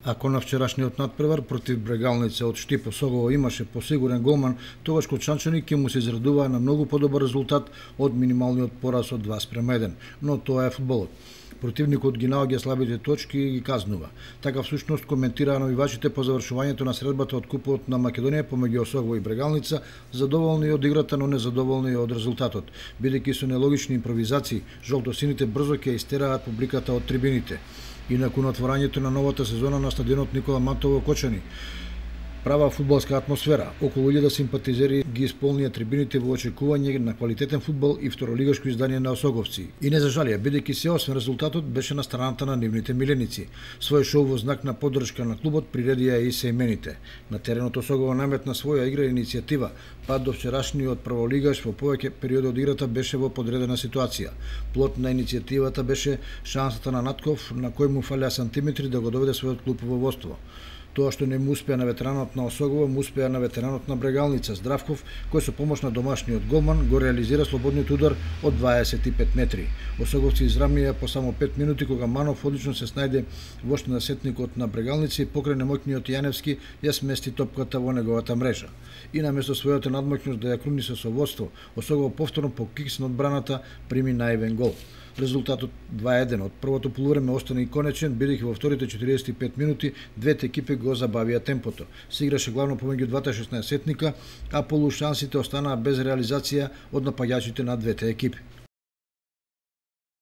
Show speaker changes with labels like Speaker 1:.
Speaker 1: Ако на вчерашниот надпревар против Брегалница од Штип Осогово имаше посигурен голман, тогаш Кочанчани ќе му се израдуваа на многу подобар резултат од минималниот пораз од 2:1, но тоа е фудбалот. Противникот ги наоѓа слабите точки и ги казнува. Така всушност коментираа навивачите по завршувањето на средбата од Купот на Македонија помеѓу Осогово и Брегалница, задоволни од играта, но незадоволни од резултатот, бидејќи со нелогични импровизации жолтосините брзо ќе истераат публиката од трибините. И након отворањето на новата сезона на стадионот Никола Мантово Кочани, права фудбалска атмосфера, околу 1000 симпатизери ги исполнија трибините во очекување на квалитетен фудбал и второлигашко издание на осоговци. И не зажалија, бидејќи се освен резултатот беше на страната на нивните миленици. Свој шоу во знак на поддршка на клубот приредија и сеимените. На теренот Осогово наметна своја игра и иницијатива, па до вчерашниот прволигаш во повеќе периоди од играта беше во подредена ситуација. Плод на иницијативата беше шансата на Натков, на кој му фалеа сантиметри да го доведе својот клуб во водство. Тоа што не му успеа на ветеранот на Осогово, му успеа на ветеранот на Брегалница Здравков, кој со помош на домашниот голман го реализира слободниот удар од 25 метри. Осоговци израмнија по само 5 минути кога Манов одлично се снајде во сетникот на Брегалница и покрај немоќниот Јаневски ја смести топката во неговата мрежа. И наместо својата надмоќност да ја круни со водство, Осогово повторно по кикс на одбраната прими наивен гол. Резултатот 2:1 од првото полувреме остана и конечен, бидејќи во вторите 45 минути двете екипи го забавија темпото. Се играше главно помеѓу двата 16-сетника, а полушансите останаа без реализација од напаѓачите на двете екипи.